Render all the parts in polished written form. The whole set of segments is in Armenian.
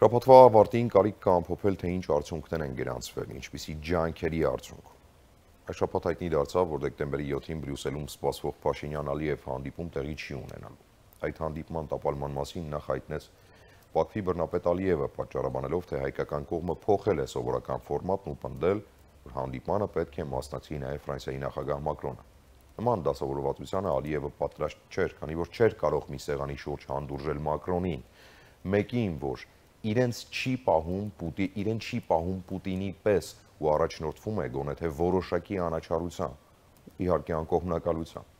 Շաբաթվա ավարտին կարիք կա ամփոփել, թե ինչ արդյունքներ են գրանցվել, ինչպիսի ջանքերի արդյունք։ Այս շաբաթ հայտնի դարձավ, որ դեկտեմբերի 7-ին Բրյուսելում սպասվող Փաշինյան-Ալիև հանդիպում տեղի չի ունենալու։ Այդ հանդիպման տապալման մասին նախ հայտնեց Բաքվի բռնապետ Ալիևը, պատճառաբանելով, թե հայկական կողմը փոխել է սովորական ֆորմատն ու պնդել, որ հանդիպմանը պետք է մասնակցի նաև Ֆրանսիայի նախագահ Մակրոնը։ Նման դասավորվածությանը Ալիևը պատրաստ չէր, քանի որ չէր կարող մի սեղանի շուրջ հանդուրժել Մակրոնին, մեկին, որ իրեն չի պահում Պուտինի պես ու առաջնորդվում է գոնե թե որոշակի անաչառությամբ, իհարկե անկողմնակալությամբ։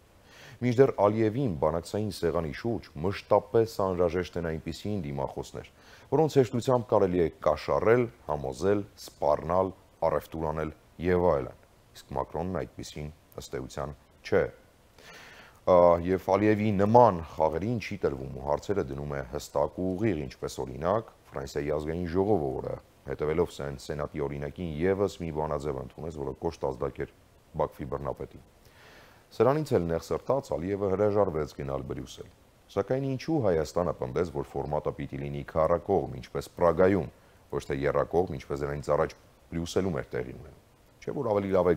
Մինչդեռ Ալիևին բանակցային սեղանի շուրջ մշտապես անհրաժեշտ են այնպիսի դիմախոսներ, որոնց հեշտությամբ կարելի է կաշառել, համոզել, սպառնալ, առևտուր անել եւ այլն։ Իսկ Մակրոնն այդպիսին ըստ էության չէ։ Եվ Ալիևի նման խաղերին չի տրվում ու հարցերը դնում է հստակ ու ուղիղ, ինչպես օրինակ Ֆրանսիայի ազգային ժողովը, որը հետևելով սենատի օրինակին եւս մի բանաձև ընդունեց, որը կոշտ ազդակ էր Բաքվի բռնապետին։ Սրանից էլ նեղսրտած Ալիևը հրաժարվեց գնալ Բրյուսել։ Սակայն ինչու Հայաստանը պնդեց, որ ֆորմատը պիտի լինի քառակողմ, ինչպես Պրագայում, ոչ թե եռակողմ, ինչպես դրանից առաջ Բրյուսելում էր տեղի ունենում։ Չէ՞ որ ավելի լավ է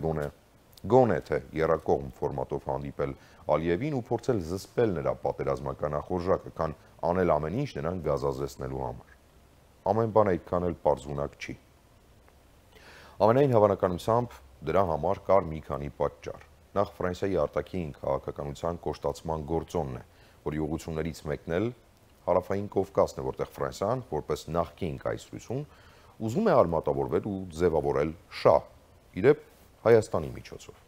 գոնե թե եռակողմ ֆորմատով հանդիպել Ալիևին ու փորձել զսպել նրա պատերազմական ախորժակը, քան անել ամեն ինչ նրան գազազեցնելու համար։ Ամեն բան այդքան էլ պարզունակ չի։ Ամենայն հավանականությամբ դրա համար կար մի քանի պատճառ։ Նախ Ֆրանսիայի արտաքին քաղաքականության կոշտացման գործոնն է, որի ուղղություններից մեկն էլ Հարավային Կովկասն է, որտեղ Ֆրանսիան, որպես նախկին կայսրություն, ուզում է արմատավորվել ու ձևավորել շահ, իրեպ Հայաստանի միջոցով։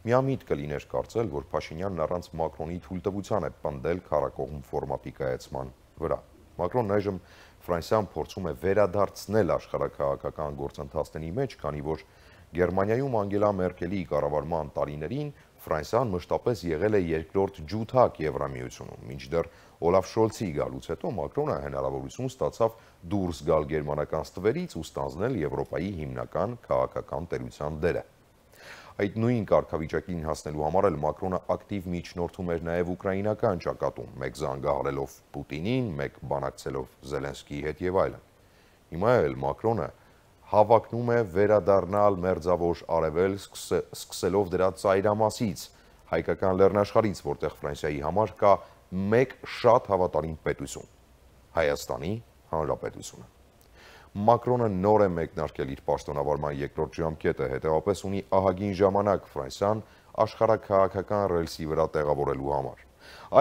Միամիտ կլիներ կարծել, որ Փաշինյանն առանց Մակրոնի թույլտվության է պնդել քառակողմ ֆորմատի կայացման վրա։ Մակրոնն այժմ Ֆրանսիան փորձում է վերադարձնել աշխարհաքաղաքական գործընթացների մեջ, քանի որ Գերմանիայում Անգելա Մերկելի կառավարման տարիներին Ֆրանսիան մշտապես եղել է երկրորդ ջութակ Եվրամիությունում, մինչդեռ Օլաֆ Շոլցի գալուց հետո Մակրոնը հնարավորություն ստացավ դուրս գալ գերմանական ստվերից ու ստանձնել Եվրոպայի հիմնական քաղաքական տերության դերը։ Այդ նույն կարգավիճակին հասնելու համար էլ Մակրոնը ակտիվ միջնորդում էր նաև ուկրաինական ճակատում, մեկ զանգահարելով Պուտինին, մեկ բանակցելով Զելենսկիի հետ եւ այլն։ Հիմա էլ Մակրոնը հավակնում է վերադառնալ մերձավոր արևել, սկսելով դրա ծայրամասից, հայկական լեռնաշխարհից, որտեղ Ֆրանսիայի համար կա մեկ շատ հավատարիմ պետություն՝ Հայաստանի Հանրապետությունը։ Մակրոնը նոր է մեկնարկել իր պաշտոնավարման երկրորդ ժամկետը, հետևաբար ունի ահագին ժամանակ Ֆրանսիան աշխարհաքաղաքական ռելսի վրա տեղավորելու համար։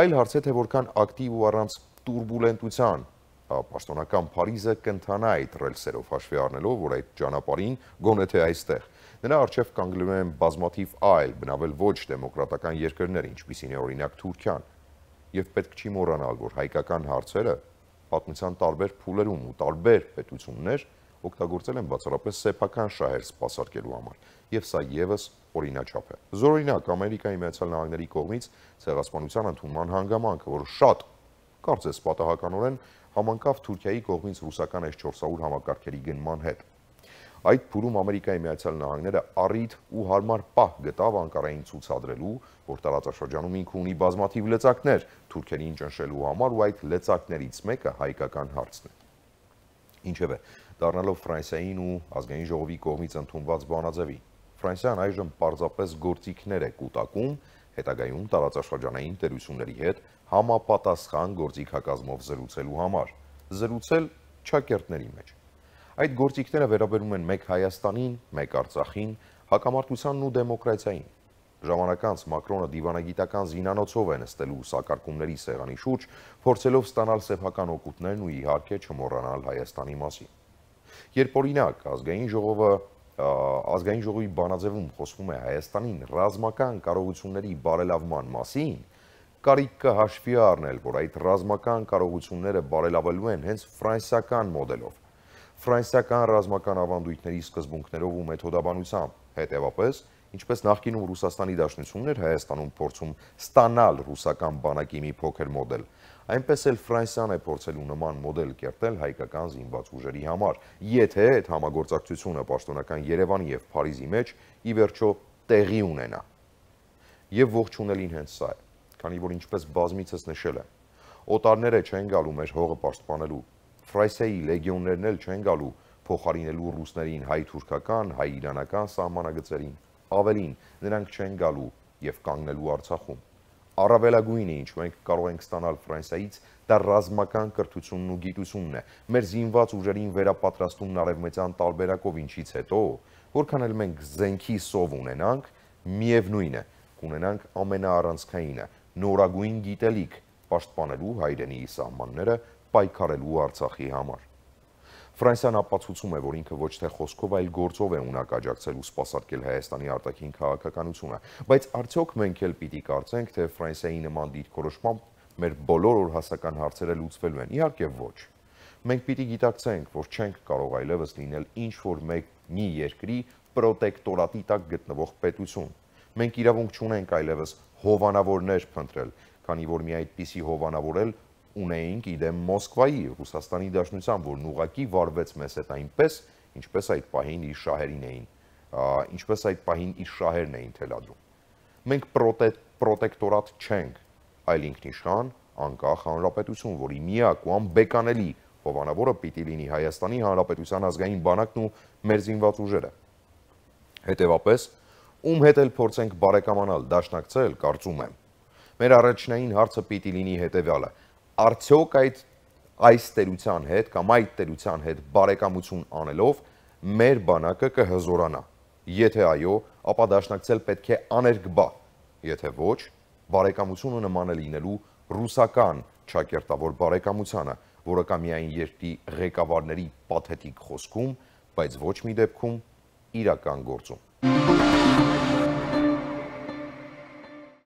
Այլ հարց է, թե որքան ակտիվ ու առանց տուրբուլենտության պաշտոնական Փարիզը կընթանա այդ ռելսերով, հաշվի առնելով, որ այդ ճանապարհին գոնե թե այստեղ նրա առջև կանգնելու են բազմաթիվ այլ, բնավել ոչ դեմոկրատական երկրներ, ինչպիսին է օրինակ Թուրքիան, եւ պետք չի մոռանալ, որ հայկական հարցերը պատմության տարբեր փուլերում ու տարբեր պետություններ օգտագործել են բացառապես սեփական շահեր սպասարկելու համար, եւ սա եւս օրինաչափ է։ Զորօրինակ Ամերիկայի Միացյալ Նահանգների կողմից ցեղասպանության ընդունման հանգամանքը, որ շատ կարծես պատահականորեն համընկավ Թուրքիայի կողմից ռուսական S-400 համակարգերի գնման հետ։ Այդ փուլում Ամերիկայի Միացյալ Նահանգները առիթ ու հարմար պահ գտավ Անկարային ցուցադրելու, որ տարածաշրջանում ինքը ունի բազմաթիվ լծակներ թուրքերին ճնշելու համար, ու այդ լծակներից մեկը հայկական հարցն է։ Ինչևէ, դառնալով Ֆրանսիային ու ազգային ժողովի կողմից ընդունված բանաձևին, Ֆրանսիան այժմ պարզապես գործիքներ է կուտակում հետագայում տարածաշրջանային տերությունների հետ համապատասխան գործիքակազմով զրուցելու համար, զրուցել ճակերտների մեջ։ Այդ գործիքները վերաբերում են մեկ Հայաստանին, մեկ Արցախին, հակամարտությանն ու դեմոկրատիային։ Ժամանակ անց Մակրոնը դիվանագիտական զինանոցով է նստելու սակարկումների սեղանի շուրջ, փորձելով ստանալ սեփական օգուտներն ու իհարկե չմոռանալ Հայաստանի մասին։ Երբ օրինակ ազգային ժողովի բանաձևում խոսվում է Հայաստանին ռազմական կարողությունների բարելավման մասին, կարիք կա հաշվի առնել, որ այդ ռազմական կարողությունները բարելավելու են հենց ֆրանսիական մոդելով, ֆրանսիական ռազմական ավանդույթների սկզբունքներով ու մեթոդաբանությամբ, հետևապես, ինչպես նախկինում Ռուսաստանի Դաշնությունն էր Հայաստանում փորձում ստանալ ռուսական բանակի մի փոքր մոդել, այնպես էլ Ֆրանսիան է փորձելու նման մոդել կերտել հայկական զինված ուժերի համար, եթե այդ համագործակցությունը պաշտոնական Երևանի եւ Փարիզի մեջ ի վերջո տեղի ունենա։ Եվ ողջունելին հենց սա է, քանի որ ինչպես բազմիցս նշել եմ, օտարները չեն գալու մեր հողը պաշտպանելու, Ֆրանսիայի լեգիոններն էլ չեն գալու փոխարինելու ռուսներին հայ-թուրքական, հայ-իրանական սահմանագծերին, ավելին, նրանք չեն գալու եւ կանգնելու Արցախում։ Առավելագույնը, ինչ մենք կարող ենք ստանալ Ֆրանսիայից, դա ռազմական կրթությունն ու գիտությունն է, մեր զինված ուժերին վերապատրաստումն արևմտյան տարբերակով, ինչից հետո, որքան էլ մենք զենքի սով ունենանք, միևնույն է, կունենանք ամենաառանցքայինը, նորագույն գիտելիք պաշտպանելու հայրենիի սահմանները, պայքարելու Արցախի համար։ Ֆրանսիան ապացուցում է, որ ինքը ոչ թե խոսքով, այլ գործով է ունակ աջակցել ու սպասարկել Հայաստանի արտաքին քաղաքականությունը, բայց արդյոք մենք էլ պիտի կարծենք, թե Ֆրանսիայի նման դիրքորոշմամբ մեր բոլոր օրհասական հարցերը լուծվելու են։ Իհարկե ոչ։ Մենք պիտի գիտակցենք, որ չենք կարող այլևս լինել ինչ-որ մի երկրի պրոտեկտորատի տակ գտնվող պետություն։ Մենք իրավունք չունենք այլևս հովանավորներ փնտրել, քանի որ մի այդպիսի հովանավոր էլ ունեինք իդեմ Մոսկվայի, Ռուսաստանի Դաշնության, որն ուղղակի վարվեց մեզ հետ այնպես, ինչպես այդ պահին իր շահերն էին թելադրում։ Մենք պրոտեկտորատ չենք, այլ ինքնիշխան, անկախ հանրապետություն, որի միակ ու անբեկանելի հովանավորը պիտի լինի Հայաստանի Հանրապետության ազգային բանակն ու մեր զինված ուժերը։ Հետևապես, ում հետ էլ փորձենք բարեկամանալ, դաշնակցել, կարծում եմ, մեր առաջնային հարցը պիտի լինի հետևյալը. արդյոք այս տերության հետ կամ այդ տերության հետ բարեկամություն անելով մեր բանակը կհզորանա։ Եթե այո, ապա դաշնակցել պետք է աներկբա, եթե ոչ, բարեկամությունը նման է լինելու ռուսական ճակերտավոր բարեկամությանը, որը կա միայն երկրի ղեկավարների պաթետիկ խոսքում, բայց ոչ մի դեպքում իրական գործում։